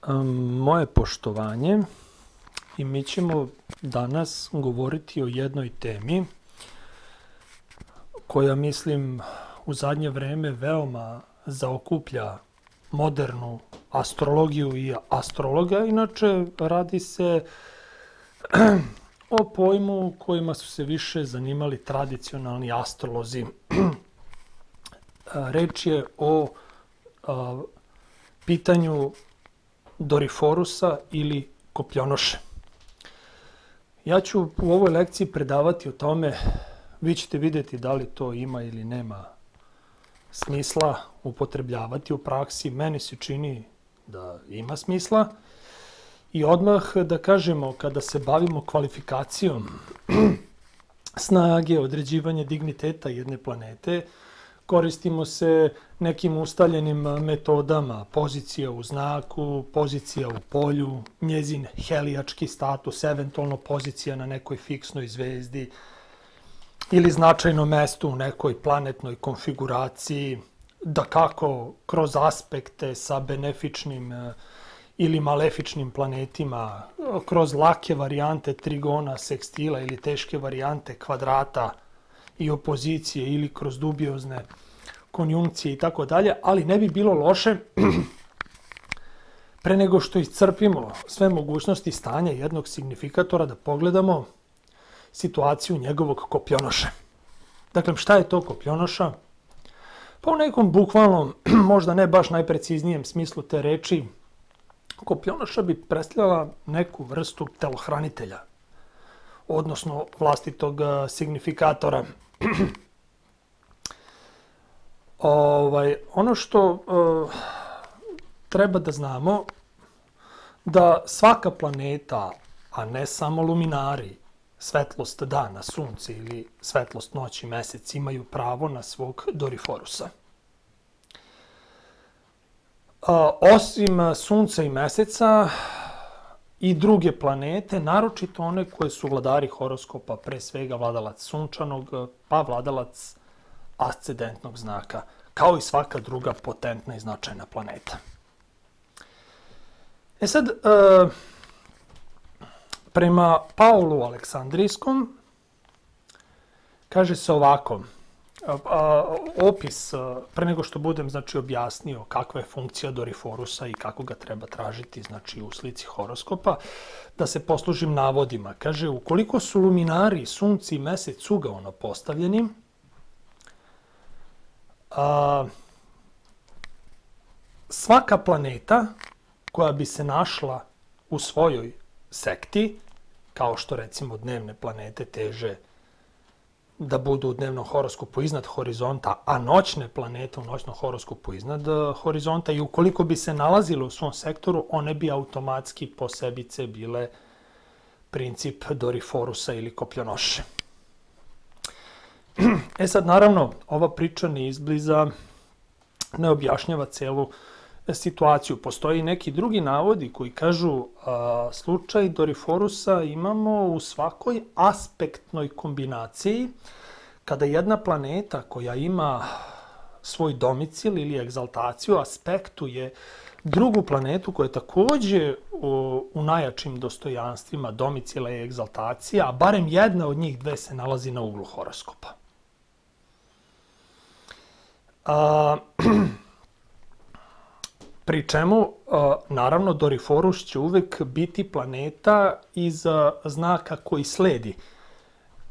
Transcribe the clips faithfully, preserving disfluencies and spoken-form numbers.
Moje poštovanje i mi ćemo danas govoriti o jednoj temi koja, mislim, u zadnje vreme veoma zaokuplja modernu astrologiju i astrologa. Inače, radi se o pojmu kojima su se više zanimali tradicionalni astrolozi. Reč je o a, pitanju Doriforusa ili Kopljonoše. Ja ću u ovoj lekciji predavati o tome, vi ćete vidjeti da li to ima ili nema smisla upotrebljavati u praksi. Meni se čini da ima smisla. I odmah da kažemo, kada se bavimo kvalifikacijom snage, određivanje digniteta jedne planete, koristimo se nekim ustaljenim metodama, pozicija u znaku, pozicija u polju, njezin helijački status, eventualno pozicija na nekoj fiksnoj zvezdi ili značajno mesto u nekoj planetnoj konfiguraciji, da kako kroz aspekte sa benefičnim ili malefičnim planetima, kroz lake varijante trigona, sekstila ili teške varijante kvadrata i opozicije ili kroz dubiozne konjunkcije i tako dalje, ali ne bi bilo loše pre nego što iscrpimo sve mogućnosti stanja jednog signifikatora da pogledamo situaciju njegovog Kopljonoše. Dakle, šta je to Kopljonoša? Pa u nekom bukvalnom, možda ne baš najpreciznijem smislu te reči, Kopljonoša bi predstavljala neku vrstu telohranitelja, odnosno vlastitog signifikatora. Ovaj, ono što uh, treba da znamo, da svaka planeta, a ne samo luminari, svetlost dana, sunce ili svetlost noći, mesec, imaju pravo na svog Doriforusa. Uh, osim sunca i meseca i druge planete, naročito one koje su vladari horoskopa, pre svega vladalac sunčanog, pa vladalac ascendentnog znaka, kao i svaka druga potentna i značajna planeta. E sad, e, prema Paulu Aleksandrijskom, kaže se ovako, a, a, opis, a, pre nego što budem znači, objasnio kakva je funkcija Doriforusa i kako ga treba tražiti znači, u slici horoskopa, da se poslužim navodima. Kaže, ukoliko su luminari, sunce i mesec ugaono postavljeni, A, svaka planeta koja bi se našla u svojoj sekti, kao što recimo dnevne planete teže da budu u dnevnom horoskopu iznad horizonta, a noćne planete u noćnom horoskopu iznad horizonta, i ukoliko bi se nalazile u svom sektoru, one bi automatski po sebice bile princip Doriforusa ili Kopljonoše. E sad, naravno, ova priča ne izbliza, ne objašnjava celu situaciju. Postoji neki drugi navodi koji kažu a, slučaj Doriforusa imamo u svakoj aspektnoj kombinaciji, kada jedna planeta koja ima svoj domicil ili egzaltaciju aspektuje drugu planetu koja je takođe u, u najjačim dostojanstvima domicila i egzaltacija, a barem jedna od njih dve se nalazi na uglu horoskopa. A, pri čemu, a, naravno, Doriforus će uvek biti planeta iz a, znaka koji sledi.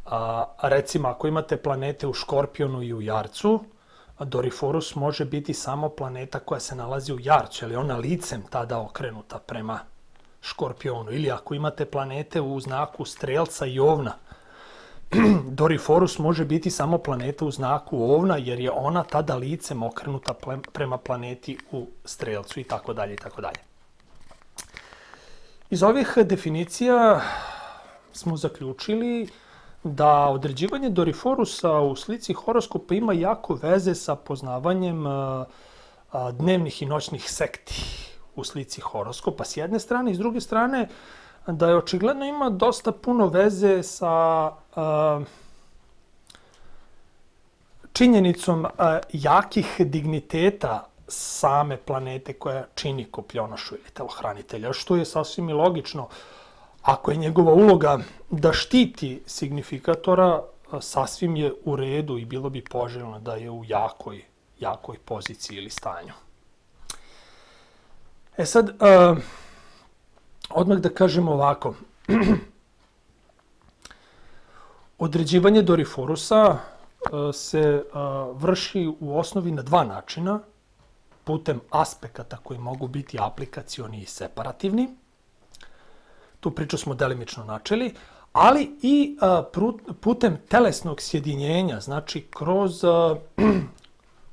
A, recimo, ako imate planete u Škorpionu i u Jarcu, Doriforus može biti samo planeta koja se nalazi u Jarcu, jer je ona licem tada okrenuta prema Škorpionu. Ili ako imate planete u znaku Strelca i Ovna, Doriforus može biti samo planeta u znaku Ovna, jer je ona tada licem okrenuta prema planeti u Strelcu i tako dalje i tako dalje. Iz ovih definicija smo zaključili da određivanje Doriforusa u slici horoskopa ima jako veze sa poznavanjem dnevnih i noćnih sekti u slici horoskopa s jedne strane, i s druge strane da je očigledno ima dosta puno veze sa a, činjenicom a, jakih digniteta same planete koja čini kopljonošu ili telohranitelja, što je sasvim i logično. Ako je njegova uloga da štiti signifikatora, sasvim je u redu i bilo bi poželjno da je u jakoj, jakoj poziciji ili stanju. E sad, uh, odmah da kažemo ovako. Određivanje Doriforusa uh, se uh, vrši u osnovi na dva načina, putem aspekata koji mogu biti aplikacioni i separativni. Tu priču smo delimično načeli, ali i uh, putem telesnog sjedinjenja, znači kroz uh,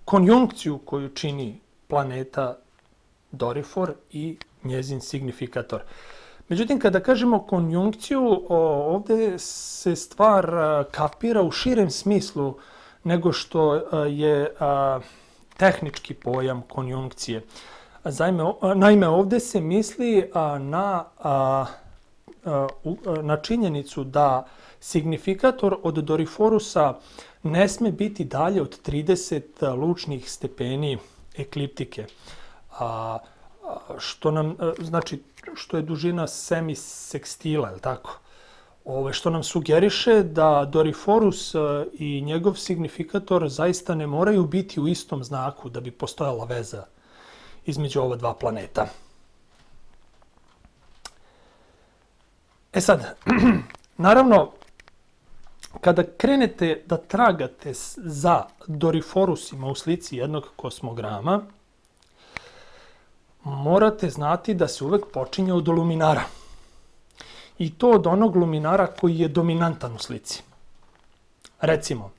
konjunkciju koju čini planeta Dorifor i njezin signifikator. Međutim, kada kažemo konjunkciju, ovdje se stvar kapira u širem smislu nego što je tehnički pojam konjunkcije. Naime, ovdje se misli na, na činjenicu da signifikator od Doriforusa ne sme biti dalje od trideset lučnih stepeni ekliptike. A, što nam, znači, što je dužina semisekstila, je li tako? Ove, što nam sugeriše da Doriforus i njegov signifikator zaista ne moraju biti u istom znaku da bi postojala veza između ova dva planeta. E sad, naravno, kada krenete da tragate za Doriforusima u slici jednog kosmograma, morate znati da se uvek počinje od luminara. I to od onog luminara koji je dominantan u slici. Recimo,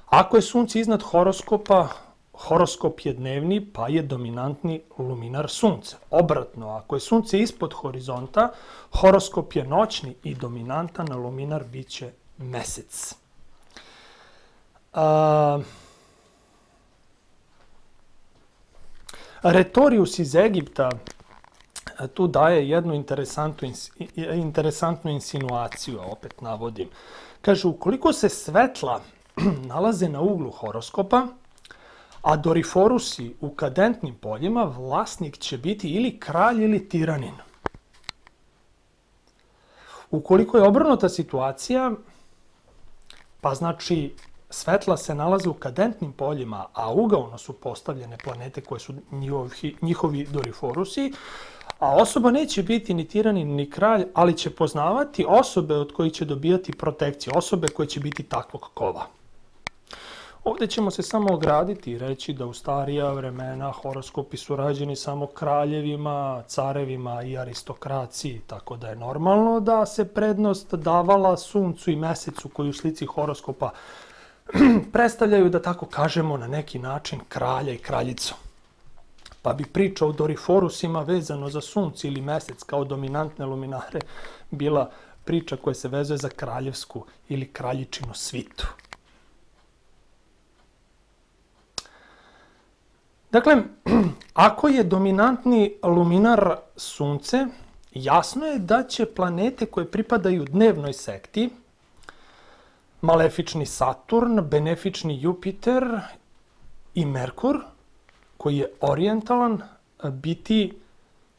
ako je Sunce iznad horoskopa, horoskop je dnevni, pa je dominantni luminar Sunce. Obratno, ako je Sunce ispod horizonta, horoskop je noćni i dominantan luminar biće Mesec. A... Retorius iz Egipta tu daje jednu interesantnu, interesantnu insinuaciju, opet navodim. Kaže, ukoliko se svetla nalaze na uglu horoskopa, a Doriforusi u kadentnim poljima, vlasnik će biti ili kralj ili tiranin. Ukoliko je obrnuta situacija, pa znači svetla se nalaze u kadentnim poljima, a ugaono su postavljene planete koje su njihovi, njihovi Doriforusi, a osoba neće biti ni tiranin ni kralj, ali će poznavati osobe od kojih će dobijati protekciju, osobe koje će biti takvog kova. Ovdje ćemo se samo ograditi i reći da u starija vremena horoskopi su rađeni samo kraljevima, carevima i aristokraciji, tako da je normalno da se prednost davala Suncu i Mesecu koji u slici horoskopa predstavljaju, da tako kažemo, na neki način kralja i kraljicu. Pa bi priča o Doriforusima vezano za Sunce ili Mesec kao dominantne luminare bila priča koja se vezuje za kraljevsku ili kraljičinu svitu. Dakle, ako je dominantni luminar Sunce, jasno je da će planete koje pripadaju dnevnoj sekti, malefični Saturn, benefični Jupiter i Merkur, koji je orijentalan, biti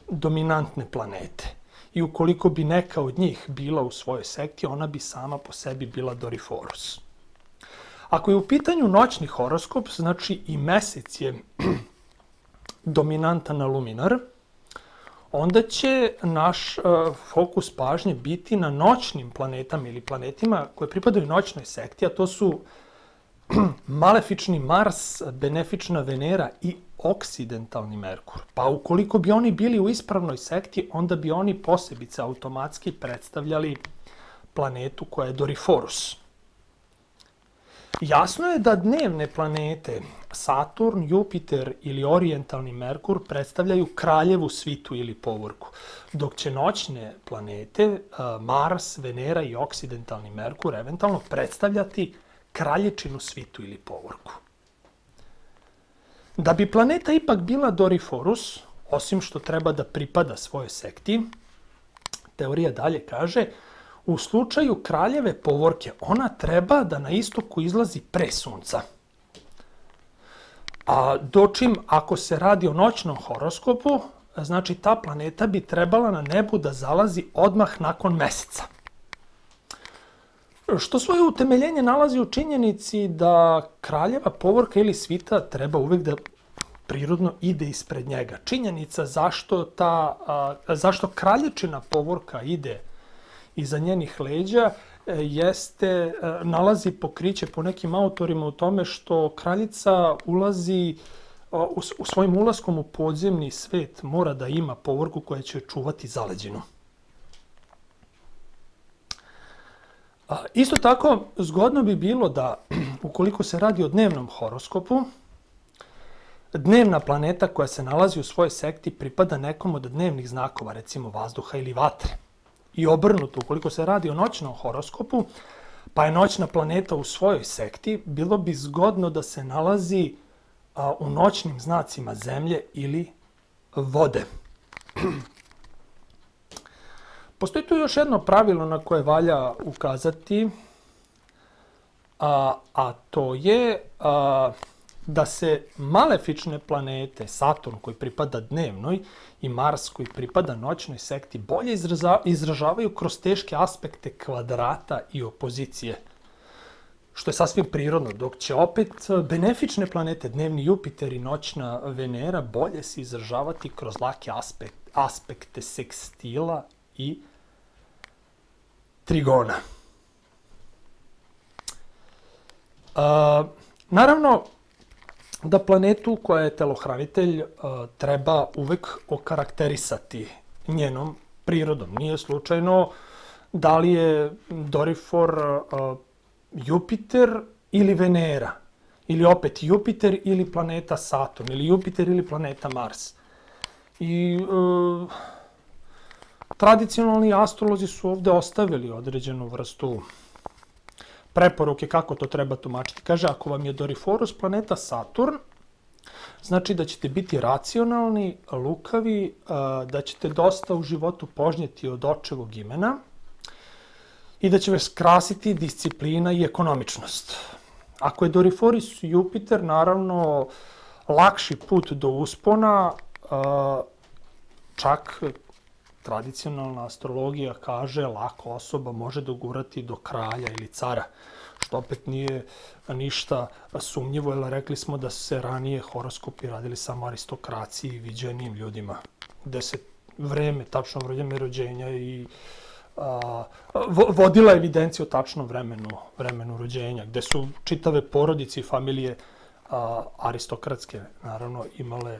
dominantne planete. I ukoliko bi neka od njih bila u svojoj sekti, ona bi sama po sebi bila Doriforus. Ako je u pitanju noćni horoskop, znači i Mesec je dominantan luminar, onda će naš uh, fokus pažnje biti na noćnim planetama ili planetima koje pripadaju noćnoj sekti, a to su malefični Mars, benefična Venera i oksidentalni Merkur. Pa ukoliko bi oni bili u ispravnoj sekti, onda bi oni posebice automatski predstavljali planetu koja je Doriforus. Jasno je da dnevne planete Saturn, Jupiter ili orijentalni Merkur predstavljaju kraljevu svitu ili povorku, dok će noćne planete Mars, Venera i oksidentalni Merkur eventualno predstavljati kraljičinu svitu ili povorku. Da bi planeta ipak bila Doriforus, osim što treba da pripada svojoj sekti, teorija dalje kaže, u slučaju kraljeve povorke ona treba da na istoku izlazi pre Sunca. A dočim, ako se radi o noćnom horoskopu, znači ta planeta bi trebala na nebu da zalazi odmah nakon meseca. Što svoje utemeljenje nalazi u činjenici da kraljeva povorka ili svita treba uvek da prirodno ide ispred njega. Činjenica zašto, ta, a, zašto kralječina povorka ide iza njenih leđa jeste, nalazi pokriće po nekim autorima u tome što kraljica ulazi u, u svojim ulaskom u podzemni svet mora da ima povorku koja će čuvati zaleđinu. Isto tako, zgodno bi bilo da, ukoliko se radi o dnevnom horoskopu, dnevna planeta koja se nalazi u svojoj sekti pripada nekom od dnevnih znakova, recimo vazduha ili vatre. I obrnuto, ukoliko se radi o noćnom horoskopu, pa je noćna planeta u svojoj sekti, bilo bi zgodno da se nalazi a, u noćnim znacima zemlje ili vode. Postoji tu još jedno pravilo na koje valja ukazati, a, a to je a, da se malefične planete, Saturn koji pripada dnevnoj i Mars koji pripada noćnoj sekti, bolje izražavaju kroz teške aspekte kvadrata i opozicije, što je sasvim prirodno, dok će opet benefične planete, dnevni Jupiter i noćna Venera, bolje se izražavati kroz lake aspekt, aspekte sekstila i trigona. A, naravno, da planetu koja je telohranitelj treba uvek okarakterisati njenom prirodom. Nije slučajno da li je Dorifor Jupiter ili Venera, ili opet Jupiter ili planeta Saturn, ili Jupiter ili planeta Mars. I e, tradicionalni astrolozi su ovde ostavili određenu vrstu preporuke kako to treba tumačiti. Kaže, ako vam je Doriforus planeta Saturn, znači da ćete biti racionalni, lukavi, da ćete dosta u životu požnjeti od očevog imena i da će vas krasiti disciplina i ekonomičnost. Ako je Doriforus Jupiter, naravno, lakši put do uspona, čak tradicionalna astrologija kaže lako osoba može dogurati do kralja ili cara, što opet nije ništa sumnjivo, jer rekli smo da se ranije horoskopi radili samo aristokraciji i viđenijim ljudima, gde se vreme, tačno vreme rođenja i a, vodila evidencija o tačnom vremenu, vremenu rođenja, gde su čitave porodice i familije a, aristokratske, naravno, imale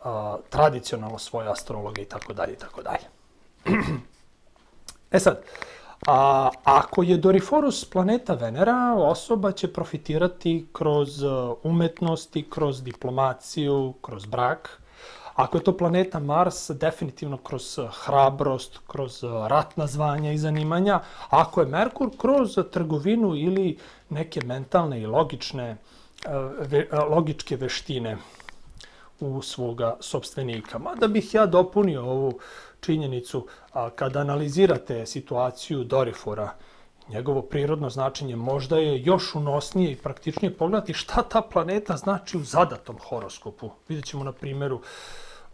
a, tradicionalno svoje astrologe i tako dalje i tako dalje. E sad, a, ako je Doriforus planeta Venera, osoba će profitirati kroz umetnosti, kroz diplomaciju, kroz brak. Ako je to planeta Mars, definitivno kroz hrabrost, kroz ratna zvanja i zanimanja. Ako je Merkur, kroz trgovinu ili neke mentalne i logične, ve, logičke veštine u svoga sopstvenika. Mada bih ja dopunio ovu činjenicu, a, kada analizirate situaciju Dorifora, njegovo prirodno značenje možda je još unosnije i praktičnije pogledati šta ta planeta znači u zadatom horoskopu. Vidjet ćemo na primjeru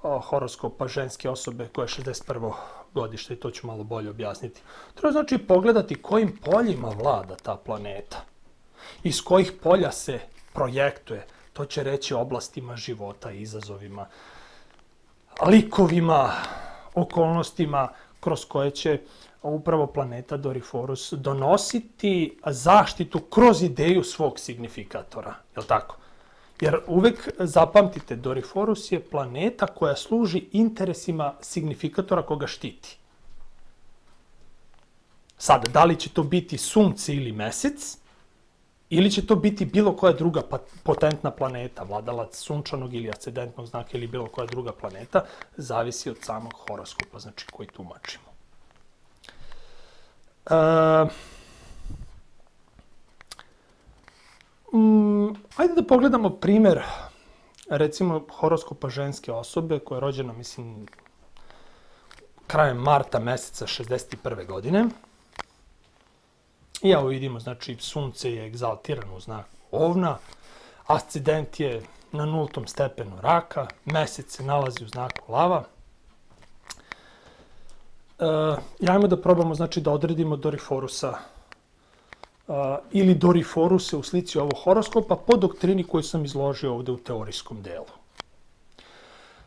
a, horoskopa ženske osobe koja je šezdeset prvo godište i to ću malo bolje objasniti. Treba znači pogledati kojim poljima vlada ta planeta, iz kojih polja se projektuje. To će reći oblastima života, izazovima, likovima, okolnostima kroz koje će upravo planeta Doriforus donositi zaštitu kroz ideju svog signifikatora. Je li tako? Jer uvek zapamtite, Doriforus je planeta koja služi interesima signifikatora koga štiti. Sad, da li će to biti Sunce ili Mesec, ili će to biti bilo koja druga potentna planeta, vladalac sunčanog ili ascendentnog znaka ili bilo koja druga planeta, zavisi od samog horoskopa, znači koji tumačimo. E, mm, ajde da pogledamo primjer, recimo, horoskopa ženske osobe koja je rođena, mislim, krajem marta meseca šezdeset prve godine. I evo vidimo, znači, Sunce je egzaltirano u znaku Ovna, ascendent je na nultom stepenu raka, mesec se nalazi u znaku lava. I ajmo da probamo, znači, da odredimo Doriforusa ili Doriforuse u slici ovog horoskopa po doktrini koju sam izložio ovde u teorijskom delu.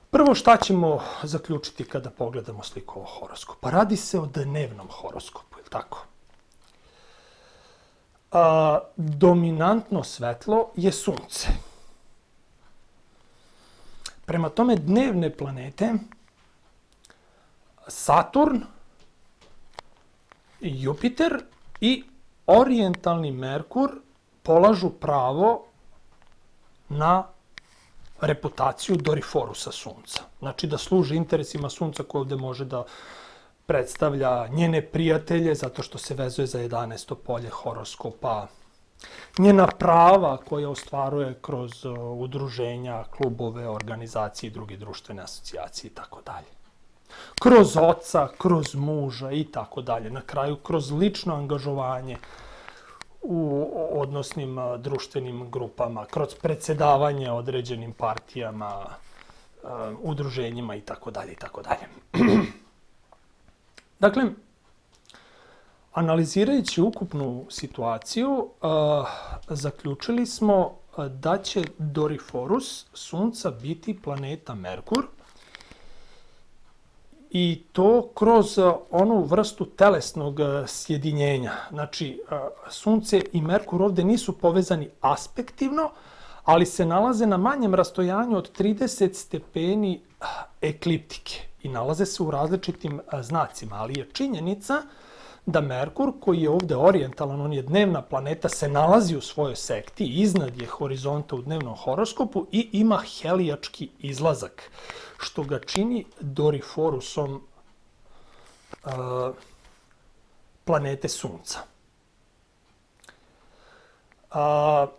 Prvo, šta ćemo zaključiti kada pogledamo sliku ovog horoskopa? Radi se o dnevnom horoskopu, je li tako? A, dominantno svetlo je sunce. Prema tome, dnevne planete, Saturn, Jupiter i orijentalni Merkur polažu pravo na reputaciju Doriforusa sunca. Znači da služi interesima sunca koji ovde može da predstavlja njene prijatelje zato što se vezuje za jedanaesto polje horoskopa, njena prava koja ostvaruje kroz udruženja, klubove, organizacije i druge društvene asocijacije i tako dalje. Kroz oca, kroz muža i tako dalje. Na kraju, kroz lično angažovanje u odnosnim društvenim grupama, kroz predsedavanje određenim partijama, udruženjima i tako dalje i tako dalje. Dakle, analizirajući ukupnu situaciju, zaključili smo da će Doriforus sunca biti planeta Merkur, i to kroz onu vrstu telesnog sjedinjenja. Znači, sunce i Merkur ovde nisu povezani aspektivno, ali se nalaze na manjem rastojanju od trideset stepeni ekliptike i nalaze se u različitim znacima, ali je činjenica da Merkur, koji je ovde orijentalan, on je dnevna planeta, se nalazi u svojoj sekti, iznad je horizonta u dnevnom horoskopu i ima helijački izlazak, što ga čini Doriforusom uh, planete Sunca. Uh,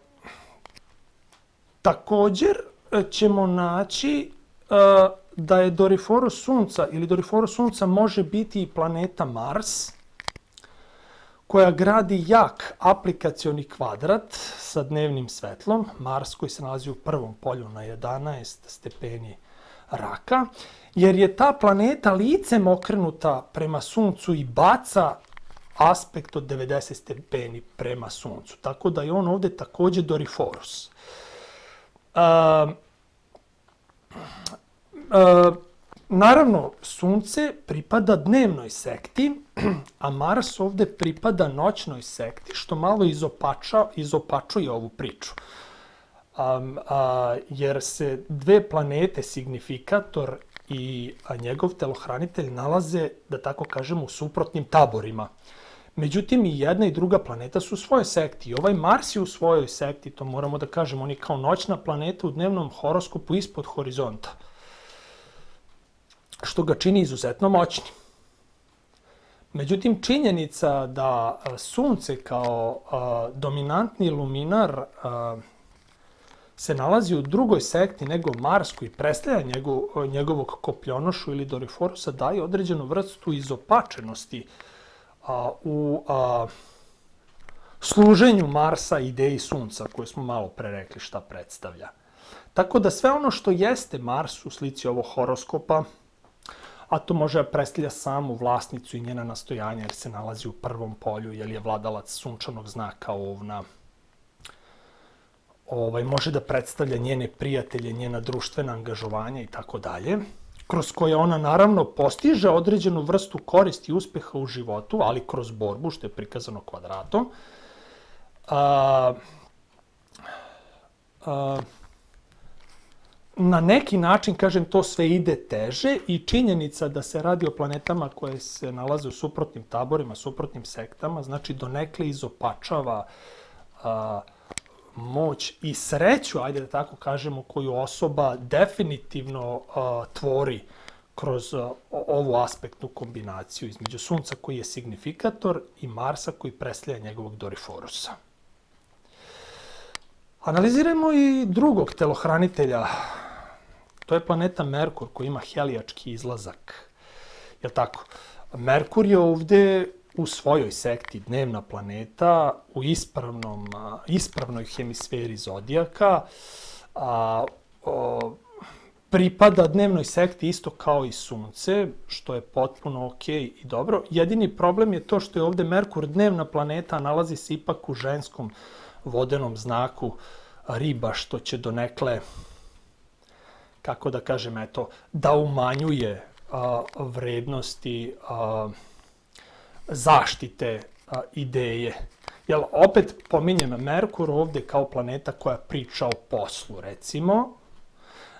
također ćemo naći uh, da je Doriforus Sunca ili Doriforus Sunca može biti i planeta Mars, koja gradi jak aplikacioni kvadrat sa dnevnim svetlom, Mars koji se nalazi u prvom polju na jedanaest stepeni raka, jer je ta planeta licem okrenuta prema Suncu i baca aspekt od devedeset stepeni prema Suncu. Tako da je on ovde takođe Doriforus. Uh, uh, naravno, Sunce pripada dnevnoj sekti, a Mars ovde pripada noćnoj sekti, što malo izopača, izopačuje ovu priču. Um, a, jer se dve planete, signifikator i a, njegov telohranitelj, nalaze, da tako kažem, u suprotnim taborima. Međutim, i jedna i druga planeta su u svojoj sekti. I ovaj Mars je u svojoj sekti, to moramo da kažemo, on je kao noćna planeta u dnevnom horoskopu ispod horizonta, što ga čini izuzetno moćnim. Međutim, činjenica da Sunce kao a, dominantni luminar a, se nalazi u drugoj sekti nego Mars, koji predstavlja njegov, njegovog kopljonošu ili Doriforusa, daje određenu vrstu izopačenosti a, u a, služenju Marsa ideji Sunca, koju smo malo pre rekli šta predstavlja. Tako da sve ono što jeste Mars u slici ovog horoskopa, a to može da predstavlja samu vlasnicu i njena nastojanja, jer se nalazi u prvom polju, jer je vladalac sunčanog znaka Ovna. Ovaj, može da predstavlja njene prijatelje, njena društvena angažovanja i tako dalje, kroz koje ona naravno postiže određenu vrstu koristi i uspeha u životu, ali kroz borbu, što je prikazano kvadratom. A, a, na neki način, kažem, to sve ide teže i činjenica da se radi o planetama koje se nalaze u suprotnim taborima, suprotnim sektama, znači donekle izopačava a, moć i sreću, ajde da tako kažemo, koju osoba definitivno a, tvori kroz a, ovu aspektnu kombinaciju između Sunca koji je signifikator i Marsa koji predstavlja njegovog Doriforusa. Analiziramo i drugog telohranitelja. To je planeta Merkur koji ima helijački izlazak. Jel' tako? Merkur je ovde u svojoj sekti dnevna planeta, u ispravnom, ispravnoj hemisferi zodijaka, a, o, pripada dnevnoj sekti isto kao i Sunce, što je potpuno okej i dobro. Jedini problem je to što je ovde Merkur dnevna planeta, a nalazi se ipak u ženskom vodenom znaku Riba, što će donekle, kako da kažem, eto, da umanjuje a, vrednosti a, zaštite a, ideje. Jel, opet pominjem Merkur ovde kao planeta koja priča o poslu, recimo,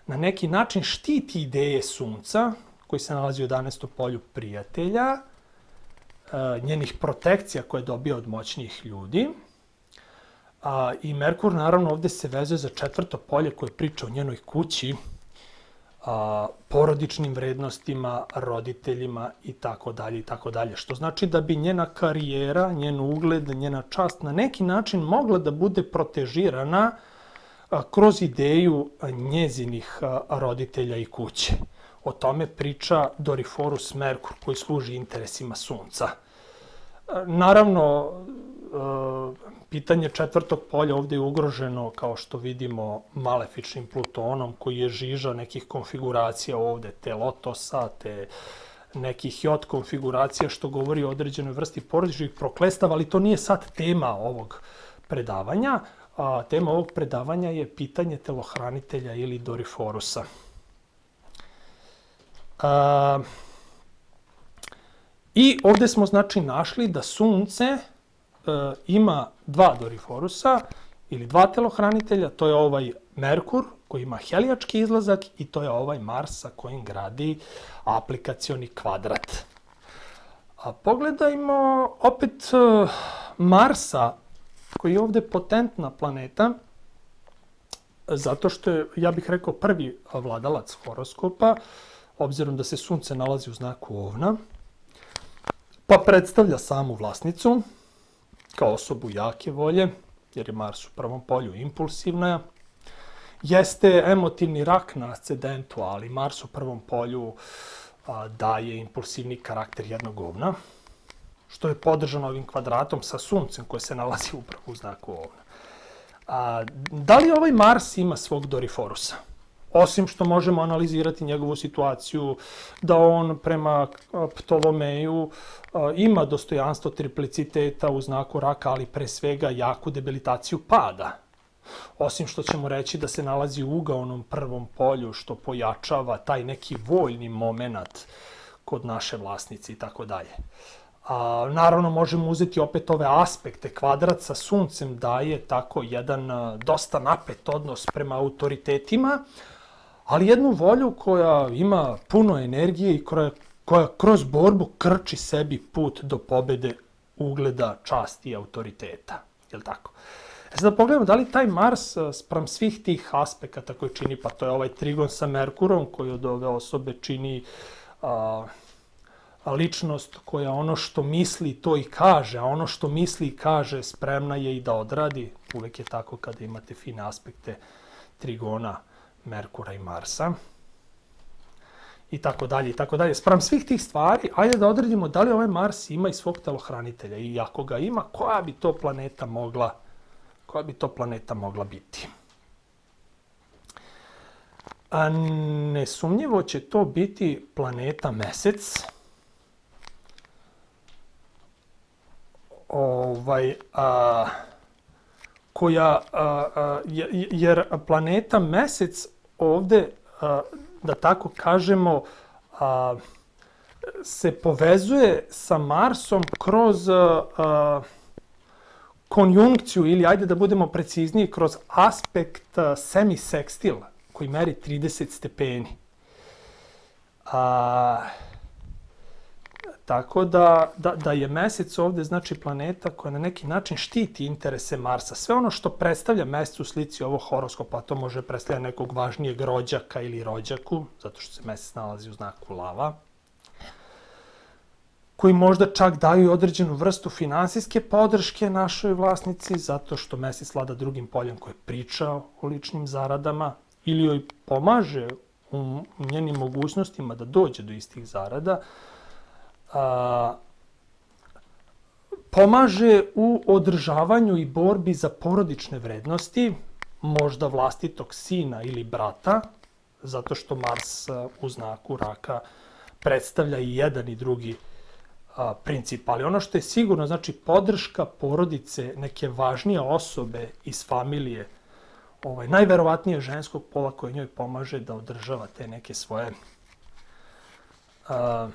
na neki način štiti ideje Sunca, koji se nalazi u jedanaestom polju prijatelja, njenih protekcija koje dobija od moćnijih ljudi. I Merkur, naravno, ovde se vezuje za četvrto polje koje priča o njenoj kući, porodičnim vrednostima, roditeljima i tako dalje i tako dalje. Što znači da bi njena karijera, njen ugled, njena čast na neki način mogla da bude protežirana kroz ideju njezinih roditelja i kuće. O tome priča Doriforus Merkur, koji služi interesima Sunca. Naravno, pitanje četvrtog polja ovde je ugroženo, kao što vidimo, malefičnim Plutonom, koji je žiža nekih konfiguracija ovde, te lotosa, te nekih jod konfiguracija, što govori o određenoj vrsti porodičnih proklestava, ali to nije sad tema ovog predavanja. A, tema ovog predavanja je pitanje telohranitelja ili Doriforusa. A, I ovde smo, znači, našli da Sunce e, ima dva Doriforusa ili dva telohranitelja. To je ovaj Merkur koji ima helijački izlazak i to je ovaj Mars sa kojim gradi aplikacioni kvadrat. A pogledajmo opet e, Marsa, koji je ovde potentna planeta, zato što je, ja bih rekao, prvi vladalac horoskopa, obzirom da se Sunce nalazi u znaku Ovna, pa predstavlja samu vlasnicu kao osobu jake volje, jer je Mars u prvom polju impulsivna. Jeste emotivni rak na ascendentu, ali Mars u prvom polju a, daje impulsivni karakter jednog ovna, što je podržano ovim kvadratom sa Suncem koje se nalazi upravo u znaku Ovna. A, da li ovaj Mars ima svog Doriforusa? Osim što možemo analizirati njegovu situaciju, da on prema Ptolomeju ima dostojanstvo tripliciteta u znaku raka, ali pre svega jaku debilitaciju pada. Osim što ćemo reći da se nalazi u ugaonom prvom polju, što pojačava taj neki voljni moment kod naše vlasnice i tako dalje. A, naravno, možemo uzeti opet ove aspekte. Kvadrat sa Suncem daje tako jedan a, dosta napet odnos prema autoritetima, ali jednu volju koja ima puno energije i koja, koja kroz borbu krči sebi put do pobede, ugleda, časti i autoriteta. Jel tako? E sad da pogledamo da li taj Mars spram svih tih aspekata koji čini, pa to je ovaj trigon sa Merkurom koji od ove osobe čini a, ličnost koja ono što misli to i kaže, a ono što misli i kaže spremna je i da odradi. Uvek je tako kada imate fine aspekte trigona Merkura i Marsa. I tako dalje, i tako dalje. Spram svih tih stvari, ajde da odredimo da li ovaj Mars ima i svog telohranitelja. I ako ga ima, koja bi to planeta mogla, koja bi to planeta mogla biti? A nesumnjivo će to biti planeta Mesec. Ovaj, a, koja, a, a, jer planeta Mesec ovde, a, da tako kažemo, a, se povezuje sa Marsom kroz a, a, konjunkciju, ili ajde da budemo precizniji, kroz aspekt semisekstil, koji meri trideset stepeni. A, tako da, da, da je Mesec ovde, znači, planeta koja na neki način štiti interese Marsa. Sve ono što predstavlja Mesec u slici ovog horoskopa, to može predstavljati nekog važnijeg rođaka ili rođaku, zato što se Mesec nalazi u znaku Lava, koji možda čak daju određenu vrstu finansijske podrške našoj vlasnici, zato što Mesec vlada drugim poljem koje priča o ličnim zaradama, ili joj pomaže u njenim mogućnostima da dođe do istih zarada, a, pomaže u održavanju i borbi za porodične vrednosti, možda vlastitog sina ili brata, zato što Mars u znaku raka predstavlja i jedan i drugi a, princip. Ali ono što je sigurno, znači podrška porodice, neke važnije osobe iz familije, ovaj, najverovatnije ženskog pola koje njoj pomaže da održava te neke svoje a,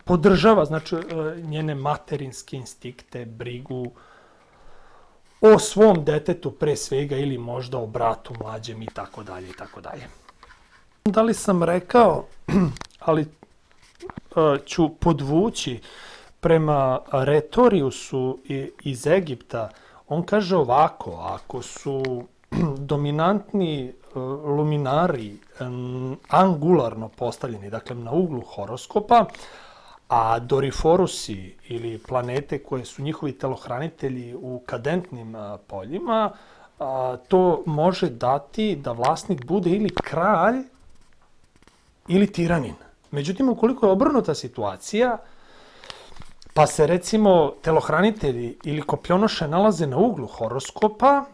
podržava, znači, njene materinske instinkte, brigu o svom detetu pre svega ili možda o bratu mlađem i tako dalje i tako dalje. Da li sam rekao, ali ću podvući prema Retoriusu iz Egipta. On kaže ovako, ako su dominantni luminari angularno postavljeni, dakle na uglu horoskopa, a doriforusi ili planete koje su njihovi telohranitelji u kadentnim poljima, to može dati da vlasnik bude ili kralj ili tiranin. Međutim, ukoliko je obrnuta situacija, pa se recimo telohranitelji ili kopionoše nalaze na uglu horoskopa,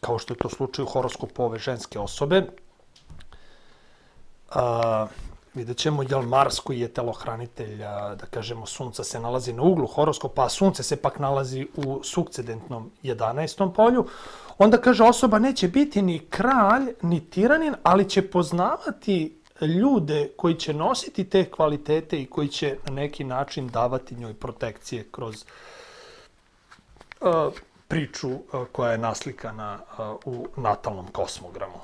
kao što je to slučaj u horoskopu ove ženske osobe, a, vidjet ćemo, jel Mars koji je telohranitelj, a, da kažemo, Sunca se nalazi na uglu horoskopa, a Sunce se pak nalazi u sukcedentnom jedanaestom polju, onda kaže osoba neće biti ni kralj, ni tiranin, ali će poznavati ljude koji će nositi te kvalitete i koji će na neki način davati njoj protekcije kroz uh, priču uh, koja je naslikana uh, u natalnom kosmogramu.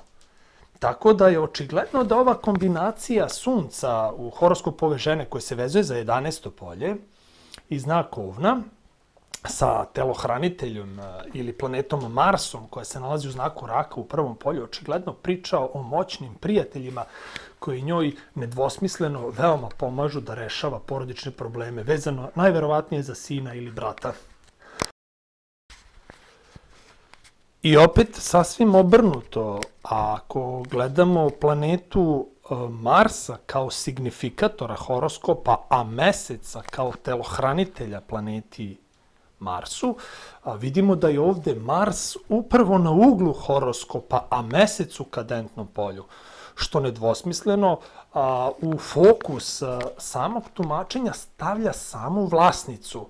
Tako da je očigledno da ova kombinacija Sunca u horoskopu ove žene koje se vezuje za jedanaesto polje i znak Ovna sa telohraniteljom ili planetom Marsom koja se nalazi u znaku Raka u prvom polju, očigledno priča o moćnim prijateljima koji njoj nedvosmisleno veoma pomažu da rešava porodične probleme, vezano najverovatnije za sina ili brata. I opet sasvim obrnuto, ako gledamo planetu Marsa kao signifikatora horoskopa, a Meseca kao telohranitelja planeti Marsu, a vidimo da je ovde Mars upravo na uglu horoskopa, a Mesec u kadentnom polju, što nedvosmisleno a, u fokus a, samog tumačenja stavlja samu vlasnicu.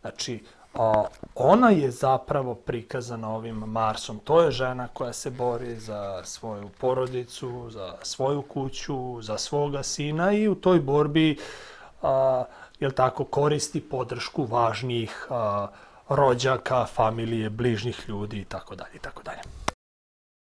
Znači, a, ona je zapravo prikazana ovim Marsom. To je žena koja se bori za svoju porodicu, za svoju kuću, za svoga sina i u toj borbi a, jel tako, koristi podršku važnijih a, rođaka, familije, bližnjih ljudi i tako dalje i tako dalje.